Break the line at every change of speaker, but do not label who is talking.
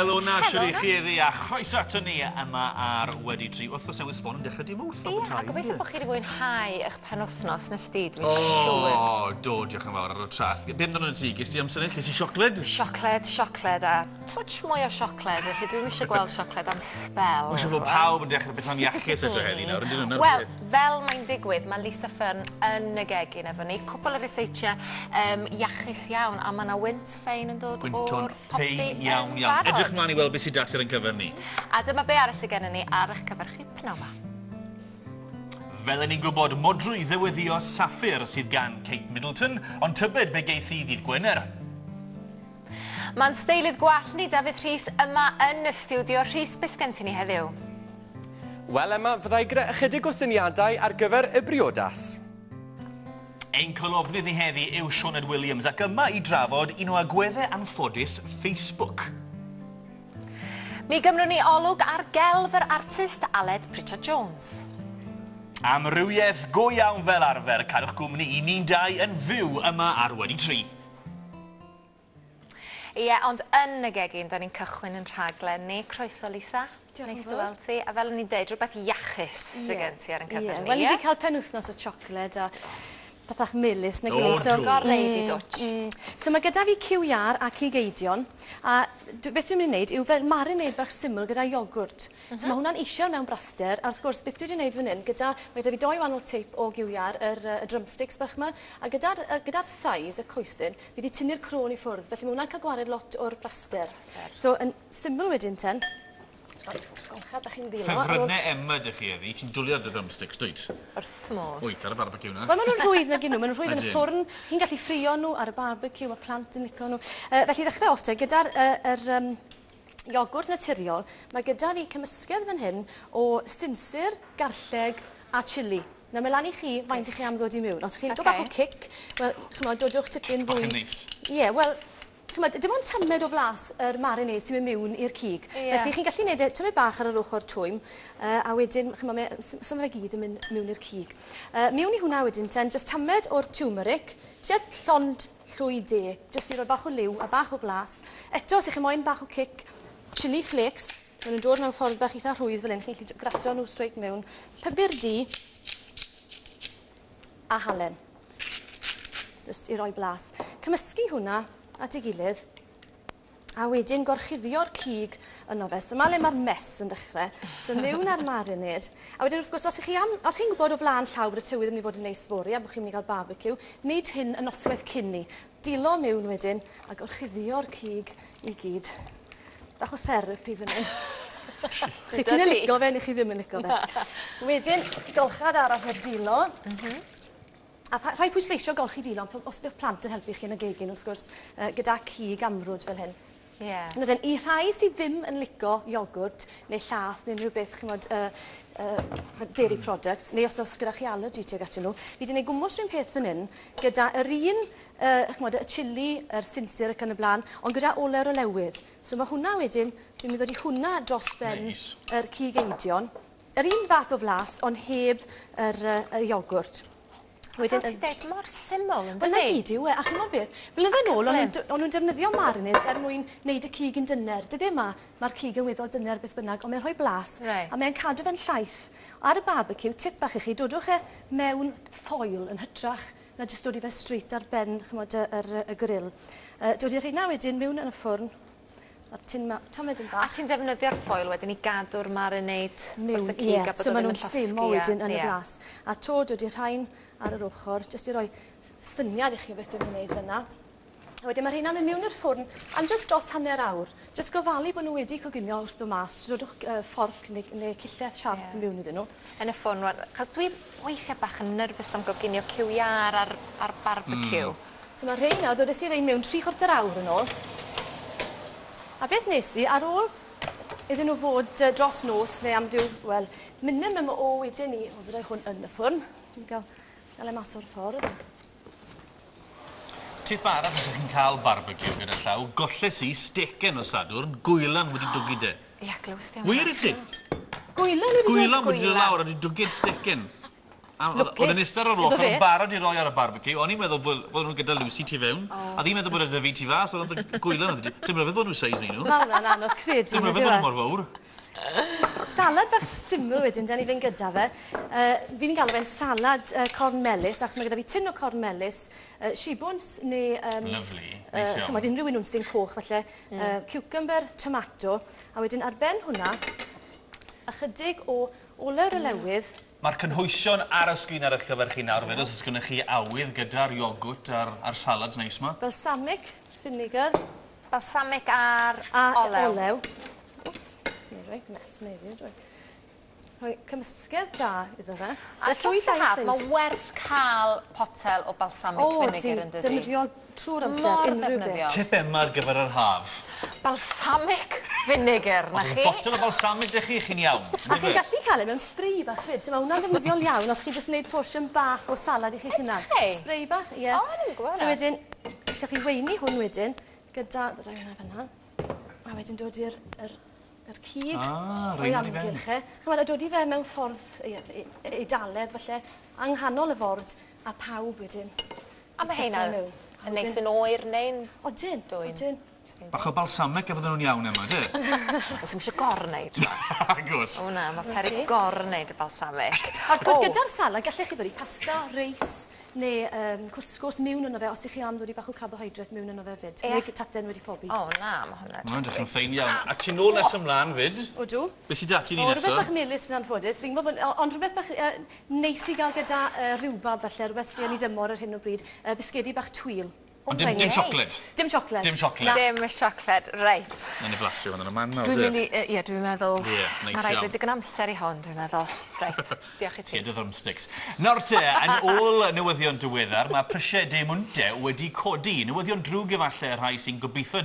Helo 'na, shwd 'y chi heddi a chroeso ato ni yma ar Wedi Tri. Wythnos newydd sbon yn dechrau dim Mawrth
Ie, a gobeithio bod chi wedi mwynhau eich penwythnos nes di, dwi'n siŵr.
O, do, diolch yn fawr ar y traeth. Be amdano ti? Ges ti amser neis? Ges ti siocled?
Siocled, siocled a twtsh mwy o siocled, felly dwi'm eisiau gweld siocled am sbel.
Mae'n siŵr fod pawb yn dechrau bwyta'n iachus eto heddi nawr, ydyn nhw?
Wel, fel mae'n digwydd, mae Lisa Fearn yn y gegin efo ni. Cwpl o ryseitiau um, iachus iawn, a mae yna wynt ffein yn dod o'r popty
ffein iawn, iawn. Edrych mlaen i weld beth sydd 'da ti ar ein cyfer ni.
A dyma be arall sydd gennym ni ar eich cyfer chi pnawn 'ma.
Fel 'yn ni'n gwybod, modrwy ddyweddio saffir sydd gan Kate Middleton, ond tybed be geith hi ddydd Gwener?
Mae'n steilydd gwallt ni, Dafydd Rhys, yma yn y stiwdio. Rhys, beth sgen ti ni heddiw?
Wel Emma, fydda i gyda ychydig o syniadau ar gyfer y briodas.
Ein colofnydd ni heddi yw Sioned Williams ac yma i drafod un o agweddau anffodus Facebook.
Mi gymrwn ni olwg ar gelf yr artist Aled Pritchard Jones.
Amrywiaeth go iawn fel arfer, cadwch gwmni i ni'n dau yn fyw yma ar Wedi Tri.
Ie, ond yn y gegin, da ni'n cychwyn yn rhaglen ni. Croeso, Lisa.
Diolch
Neis dy weld ti. A fel o'n i'n deud, rhywbeth iachus yeah. sydd gen ti ar yn cyfer
yeah.
ni.
Wel, ni wedi cael penwythnos o siocled a pethach melys na
gilydd.
So, Gorau di dwtch.
So mae gyda fi cyw iâr a cig eidion. A beth dwi'n mynd i wneud yw fel marinade bach syml gyda iogwrt. Mm -hmm. So mae hwnna'n eisiau mewn braster. A wrth gwrs, beth dwi wedi wneud fan hyn, gyda, mae gyda fi doi wahanol teip o gyw iâr, yr, y drumsticks bach yma. A gyda'r gyda thighs, y coesyn, Fi 'di tynnu'r crôn i ffwrdd, felly ma' hwnna'n cael gwared lot o'r braster. So, yn syml wedyn ten, golcha bach i'n ddilo.
Ffefrynnau Emma 'da chi heddi, ti'n dwli ar dy drumsticks, dwyt?
Wrth fy modd.
Wyt, ar y barbeciw 'na.
Wel, ma' nhw'n rhwydd nag 'yn nhw, ma' nhw'n rhwydd yn y ffwrn, chi'n gallu ffrio nhw ar y barbeciw, ma' plant yn lico nhw. Yy, felly i ddechrau off te, gyda'r yy yr yym iogwrt naturiol, mae gyda fi cymysgedd fan hyn o sinsir, garlleg a chilli. Nawr mae lan i chi faint 'ych chi am ddod i miwn. Os 'ych chi'n lico bach o cic, wel ch'mod dodwch tipyn fwy.
Bach yn neis.
Ie, wel ch'mod dim ond tamed o flas yr marinade sy'n mynd miwn i'r cig.
Ie.
Felly chi'n gallu neud e tymed bach ar yr ochor twym yy a wedyn ch'mo' mae e so ma' fe gyd yn mynd miwn i'r cig. Yy miwn i hwnna wedyn ten jyst tamed o'r turmeric, tua llond llwy de, jyst i roi bach o liw a bach o flas. Eto os 'ych chi moyn bach o cic, chilli flakes, Ma' nw'n dod mewn ffordd bach itha rhwydd fel 'yn chi'n gallu grato nhw straight mewn. Pybyr du a halen. Jyst i roi blas. Cymysgu hwnna at ei gilydd a wedyn gorchuddio'r cig yno fe. So 'ma le ma'r mess yn dechre. So miwn â'r marinade. A wedyn wrth gwrs os 'ych chi am os chi'n gwbod o flan llaw bod y tywydd yn myn' i fod yn neis fory a bo' chi'n myn' i ga'l barbeciw, neud hyn y nosweth cyn 'ny. Dilo miwn wedyn a gorchuddio'r cig i gyd. Bach o therapi fan 'yn. Chi p'un yn lico fe neu chi ddim yn lico fe. Wedyn golchad arall o'r dilo.
M-hm.
A pa- rhaid pwysleisio golchi dilo on' os 'dych plant yn helpu chi yn y gegin wrth gwrs yy gyda cig amrwd fel hyn.
Ie.
Nawr den i rhai sy ddim yn lico iogwrt neu llath neu unrhyw beth ch'mod yy yy dairy products neu os o's gyda chi allergy tuag atyn nhw fi 'di neud gwmws run peth fan 'yn gyda yr un yy ch'mod y chilli, yr sinsir ac yn y bla'n, ond gyda olew olewydd. So ma' hwnna wedyn, fi'n mynd i ddod i hwnna dros ben
Neis.
yr cig eidion. Yr un fath o flas, ond heb yr yy y iogwrt.
Wedyn... Fel ti'n deud, mor syml yndydi?
Wel 'na gyd yw e, a ch'mod beth, blynydde nôl o'n nw'n o'n nw'n defnyddio marinades er mwyn neud y cig yn dyner. Dyddie 'ma, ma'r cig yn weddol dyner beth bynnag, ond mae'n rhoi blas.
Reit.
A mae'n cadw fe'n llaith. Ar y barbeciw, tip bach i chi, dodwch e mewn ffoil yn hytrach na jyst dod i fe straight ar ben ch'mod y yr y grill. Yy dod i rheina wedyn miwn yn y ffwrn a'r tin 'ma tamed yn
A
bach.
ti'n defnyddio'r ffoil wedyn i gadw'r marinade
Miwn
wrth y cig
ie
a bod
so
o
ma'
ddim
nw'n
yn llosgi
stimo
a
wedyn yn y
ie.
blas. A 'to dod i rhain ar yr ochor jyst i roi syniad i chi o beth dwi'n mynd i neud fyn 'na. A wedyn ma' rheina'n mynd miwn i'r ffwrn am jyst dros hanner awr. Jyst gofalu bo' n'w wedi coginio wrth do' mas dodwch yy fforc neu neu cillell siarp
Ie.
miwn iddyn nhw.
Yn y ffwrn rŵan achos dwi weithia' bach yn nervous am goginio cyw iâr ar ar barbeciw.
Hmm. So ma' rheina ddodes i rein miwn tri chwarter awr yn ôl. A beth nes i ar ôl iddyn nhw fod yy dros nos neu am ryw wel minimum o weden i o fyddai hwn yn y ffwrn. I ga'l ga'l e mas o'r ffordd.
Tip arall os ych chi'n cael barbeciw gyda llaw, golles i stecen nos Sadwrn, gwylan wedi dwgyd e.
Ie, glywes di am
Wir i ti?
Gwylan wedi dod?
Gwylan wedi dod lawr a wedi dwgyd stecen. Oedd yn eistedd ar yr ochr yn barod i roi ar y barbeciw. O'n i'n meddwl bod nhw'n gyda Lucy tu fewn. A ddim meddwl bod e 'da fi tu fas. Oedd yn gwylo. Dim rhyfedd bod nhw'n seis ni nhw.
Mae hwnna'n anodd credu.
Dim rhyfedd bod nhw mor fawr.
Salad bach syml wedyn, da ni fynd gyda fe. Fi'n galw fe'n salad corn melys, achos mae gyda fi tin o corn melys, shibwns neu...
Lovely, neis iawn.
Ch'mod, unrhyw un sy'n coch falle, cucumber, tomato, a wedyn ar ben hwnna, ychydig o olew olewydd.
Mae'r cynhwysion ar y sgrin ar eich cyfer chi nawr fyd, os oes gennych chi awydd gyda'r iogwrt a'r salads neis 'ma.
Balsamic vinegar.
Balsamic a'r olew.
A olew. Wps, fi'n rhoi mess meddwl, dwi. Rhoi cymysgedd da iddo fe.
A dros yr haf, mae werth cael potel o balsamic vinegar yn dydi?
O, defnyddiol trwy'r amser, unrhyw beth.
Tip Emma ar gyfer yr haf.
Balsamic vinegar, na chi?
Os oes botel o balsamic 'da chi, chi'n iawn.
A chi'n gallu cael e mewn spray bach 'fyd. Mae hwnna'n ddefnyddiol iawn os chi jyst yn gwneud portion bach o salad i chi'ch hunan. Spray bach, ie.
O, dwi'n gwybod.
So wedyn, gallwch chi weini hwn wedyn gyda, dod â hwnna fan'na, a wedyn dod i'r yr cig o'i amgylch e. Ch'mod, a dod i fe mewn ffordd Eidaledd falle, yng nghanol y ford, a pawb wedyn.
A mae heina yn neis yn oer neu'n...
Odyn, odyn.
Bach o balsamic a fydden nhw'n iawn Emma, de?
Os ddim eisiau gorwneud.
Agos.
O na, mae peryg gorwneud y balsamic.
A wrth gwrs, gyda'r salad, gallech chi ddod i pasta, reis, neu cwsgws mewn yno fe, os ych chi am ddod i bach o carbohydrate mewn yno fe fyd. Neu taten wedi pobi.
O na, mae hwnna.
Mae'n edrych yn ffein iawn. A ti'n nôl nes ymlaen fyd?
Odw.
Be sydd 'da ti ni nesa?
O, rhywbeth bach melys yn anffodus. Fi'n gwybod bod, ond rhywbeth bach neis i gael gyda rhywbab falle, rhywbeth sydd yn ei dymor ar hyn o bryd. Bisgedi bach twil.
Ond dim siocled?
Dim siocled.
Dim siocled.
Dim siocled, reit.
Nawn ni blasu hwn yn y man nawr.
Dwi'n mynd i, ie, dwi'n meddwl... Ie, neis iawn. Mae rhaid rhoi digon amser i hon, dwi'n meddwl. Reit, diolch i ti.
Tie dy drumsticks. Nawr te, yn ôl newyddion diweddar, mae prisiau diemwntau wedi codi. Newyddion drwg efallai rhai sy'n gobeithio